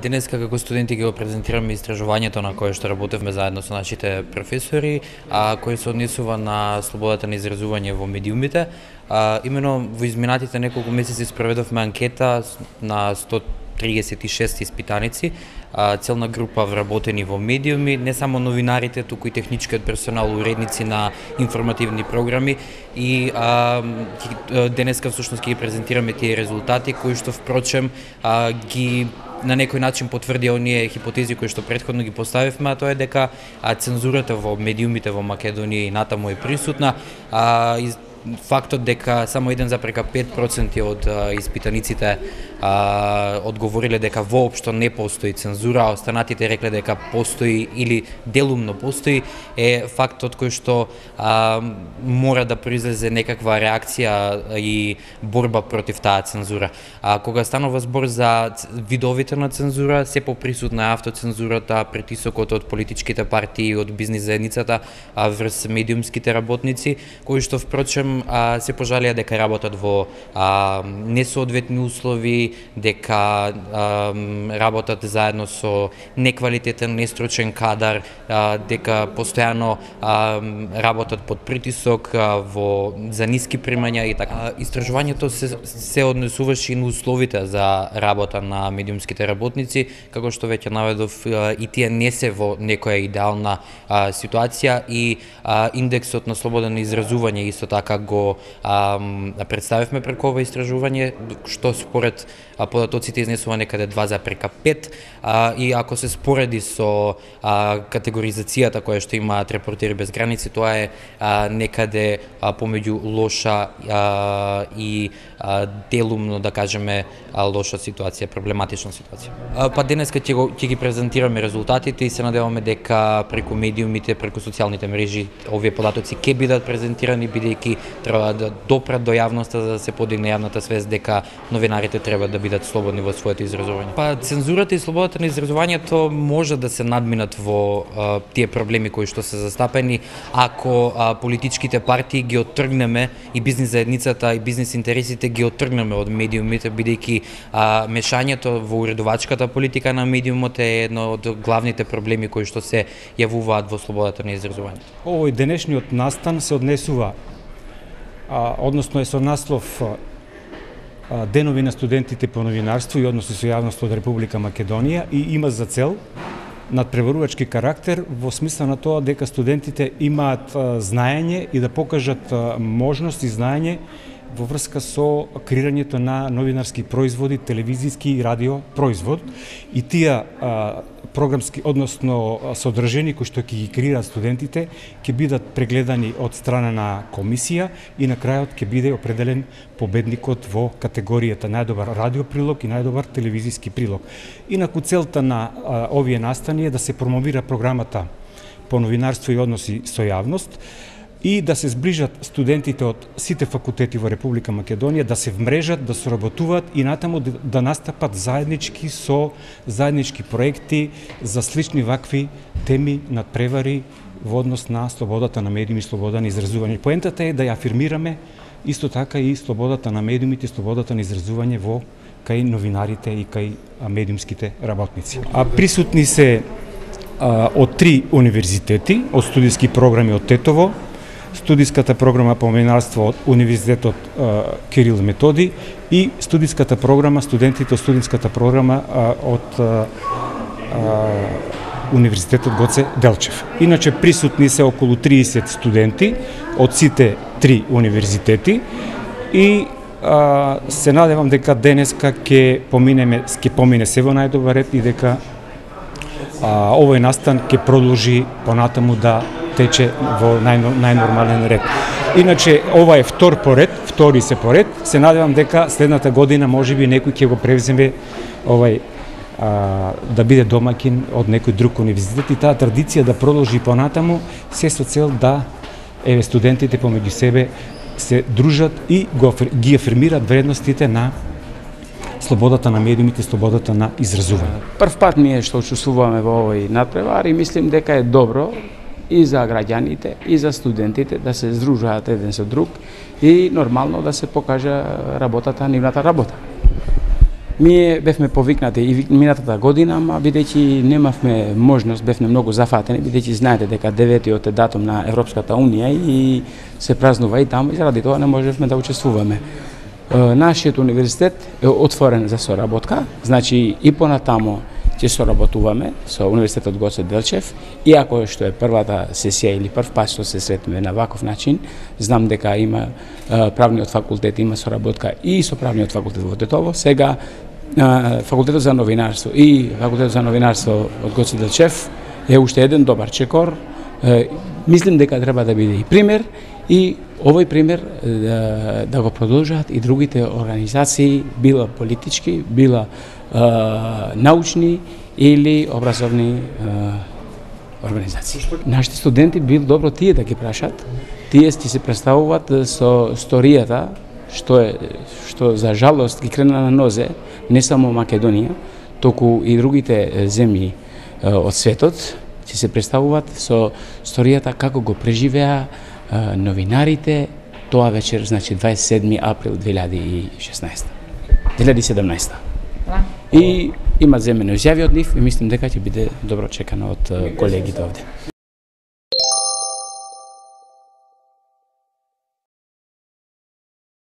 Денеска како студенти ги го презентираме истражувањето на кое што работевме заедно со нашите професори, кој се однесува на слободата на изразување во медиумите. Имено во изминатите неколку месеци спроведовме анкета на 136 испитаници, целна група вработени во медиуми, не само новинарите, туку и техничкиот персонал, уредници на информативни програми и денеска всушност ги презентираме тие резултати кои што впрочем ги на некој начин потврдија оние хипотези кои што претходно ги поставивме, а тоа е дека цензурата во медиумите во Македонија и натаму е присутна. Фактот дека само 1,5% од испитаниците одговориле дека воопшто не постои цензура, а останатите рекле дека постои или делумно постои, е фактот кој што мора да произлезе некаква реакција и борба против таа цензура. Кога станува збор за видовите на цензура, се поприсутна е автоцензурата, притисокот од политичките партии, од бизнис заедницата врз медиумските работници, кои што впрочем се пожалија дека работат во несоодветни услови, дека работат заедно со неквалитетен, нестручен кадар, дека постојано работат под притисок за ниски примања и така. Истражувањето се однесуваше и на условите за работа на медиумските работници, како што веќе наведов, и тие не се во некоја идеална ситуација и индексот на слобода на изразување исто така го представивме преку ова истражување, што според податоците изнесува некаде 2,5, и ако се спореди со категоризацијата која што имаат Репортери без граници, тоа е некаде помеѓу лоша и делумно, да кажеме, лоша ситуација, проблематична ситуација. Па денеска ќе ги презентираме резултатите и се надеваме дека преку медиумите, преку социјалните мрежи овие податоци ќе бидат презентирани, бидејќи треба да допрат до јавноста за да се подигне јавната свест дека новинарите треба да бидат слободни во своето изразување. Па цензурата и слободата на изразувањето може да се надминат во тие проблеми кои што се застапени ако политичките партии ги оттргнеме и бизнис заедницата и бизнис интересите ги оттргнеме од медиумите, бидејќи мешањето во уредувачката политика на медиумот е едно од главните проблеми кои што се јавуваат во слободата на изразувањето. Овој денешниот настан се однесува односно е со наслов Денови на студентите по новинарство и односи со јавност од Република Македонија и има за цел надпреварувачки карактер во смисла на тоа дека студентите имаат знаење и да покажат можност и знаење во врска со креирањето на новинарски производи, телевизиски и радио производ и тие програмски, односно содржини кои што ќе ги креираат студентите, ќе бидат прегледани од страна на комисија и на крајот ќе биде определен победникот во категоријата најдобар радио прилог и најдобар телевизиски прилог. Инаку целта на овие настани е да се промовира програмата по новинарство и односи со јавност, и да се зближат студентите од сите факултети во Република Македонија, да се вмрежат, да соработуваат и натаму да настапат заеднички со заеднички проекти за слични вакви теми надпревари во однос на слободата на медиуми и слобода на изразување. Поентата е да ја афирмираме исто така и слободата на медиумите, слободата на изразување во кај новинарите и кај медиумските работници. Присутни се од 3 универзитети, од студиски програми од Тетово, студиската програма по новинарство од Универзитетот Кирил Методи и студиската програма, студентите од студентската програма од Универзитетот Гоце Делчев. Иначе присутни се околу 30 студенти од сите 3 универзитети и се надевам дека денеска ќе помине се во најдобар ред и дека овој настан ќе продолжи понатаму да тече во најнормален ред. Иначе ова е втори се поред. Се надевам дека следната година можеби некој ќе го превземе да биде домаќин од некој друг универзитет и таа традиција да продолжи понатаму се со цел да студентите помеѓу себе се дружат и ги афирмираат вредностите на слободата на медиумите, слободата на изразување. Прв пат ми е што учествуваме во овој надпревар и мислим дека е добро и за граѓаните, и за студентите да се здружаат еден со друг и нормално да се покаже нивната работа. Ние бевме повикнати и минатата година, ама бидејќи немавме можност, бевме многу зафатени, бидејќи знаете дека 9-тиот е датум на Европската унија и се празнува и таму и заради тоа не можевме да учествуваме. Нашиот универзитет е отворен за соработка, значи и понатамо ќе соработуваме со Универзитетот Гоце Делчев, иако што е првата сесија или прв пат што се сретнеме на ваков начин, знам дека има правниот факултет има соработка и со правниот факултет во Тетово, сега факултетот за новинарство и факултетот за новинарство од Гоце Делчев е уште еден добар чекор. Мислим дека треба да биде и пример и овој пример да го продолжат и другите организации, било политички, било научни или образовни организации. Нашите студенти бил добро тие да ги прашат. Тие ќе се представуваат со сторијата што за жалост ги крена на нозе не само Македонија, току и другите земји од светот, ќе се представуваат со сторијата како го преживеа новинарите тоа вечер, значи 27 април 2017. И има земено изјави од нив и мислим дека ќе биде добро чекано од колегите овде.